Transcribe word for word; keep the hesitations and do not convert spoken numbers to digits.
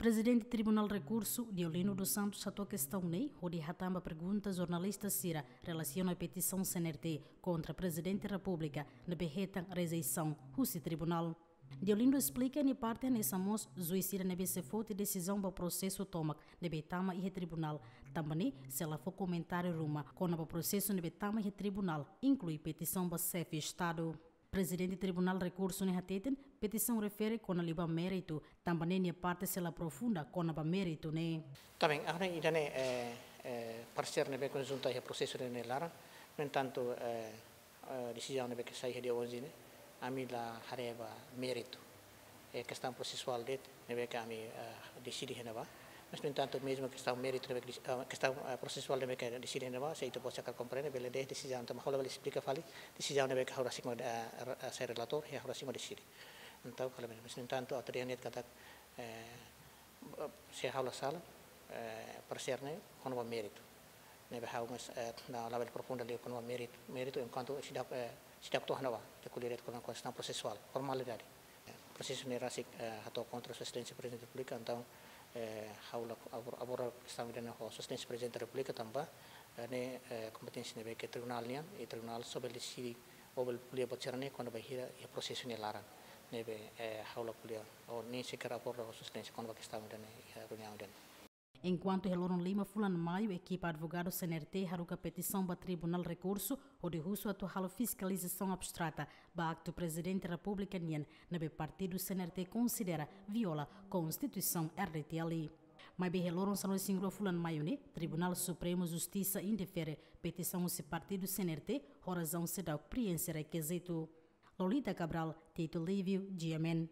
Prezidente Tribunál Rekursu, Deolindo dos Santos, hato'o kestaun ne'e hodi hatán ba pergunta jornalista sira relasiona petisaun C N R T kontra Prezidente Repúblika ne'ebé hetan rejeisaun husi tribunál. Deolindo esplika nia parte hanesan mós juís sira ne'ebé sei foti desizaun ba prosesu tomak ne'ebé tama iha tribunál, tanba ne'e sei la fó komentáriu ruma kona-ba prosesu ne'ebé tama iha tribunál, inklui petisaun ba Xefe Estadu. Prezidente Tribunál Rekursu ne'e hateten, petisaun refere kona liu ba méritu, tanba ne'e nia parte sei la aprofunda kona-ba méritu ne'e. Também, agora ida-ne'e, eh, eh, paresér ne'ebé konjunta iha prosesu ne'e laran, no entantu, eh, eh, desizaun ne'ebé ke sai iha dia onze ne'e, ami la haree ba méritu. Eh, kestaun prosesuál de'it ne'ebé ke ami, eh, deside iha ne'ebá. Mas, no entantu, mezmu kestaun méritu ne'ebé ke desi-, eh, kestaun, eh, prosesuál ne'ebé ke deside iha ne'ebá, se ita-boot sira komprende, bele dehan desizaun, entaun ha'u labele esplika fali desizaun ne'ebé ke ha'u rasik mak, eh, re-, eh, sai relatór, iha ha'u rasik mak deside. Entaun, kala, mas, no entantu, ha'u hatene katak, eh, se ha'u la sala, eh, paresér ne'e kona-ba méritu. Ne'ebé ha'u mós, eh, la, labele aprofunda liu kona-ba méritu. Méritu enkuantu seidauk, eh, seidauk to'o iha ne'ebá, ita ko'alia de'it kona-ba kestaun prosesuál, formalidade. Eh, prosesu ne'e rasik, eh, hato'o kontra Sua Exelénsia Prezidente Repúblika, entaun, eh, ha'u la, aborda, aborda kestaun ida-ne'e ho Sua Exelénsia Prezidente Repúblika tanba, eh, ne'e, eh, kompeténsia ne'ebé ke tribunál nian, i tribunál só bele deside ou bele ko'alia buat sira-ne'e kuandu bainhira iha prosesu nia laran. Ne'ebé, eh, ha'u la ko'alia, ou nia seker aborda ho Sua Exelénsia kona-ba kestaun ida-ne'e iha reuniaun ida-ne'e. Enkuantu iha loron lima fulan Maiu, ekipa advogadu C N R T haruka petisaun ba Tribunál Rekursu hodi husu atu halo fiskalizasaun abstrata ba aktu Prezidente Repúblika nian ne'ebé partidu C N R T konsidera viola Konstituisaun R D T L. Maibé iha loron sanulu-resin-rua fulan Maiu ne'e, Tribunál Supremu Justisa indefere petisaun husi partidu C N R T ho razaun seidauk prienxe rekizitu. Lolita Cabral, Tito Livio, G M N.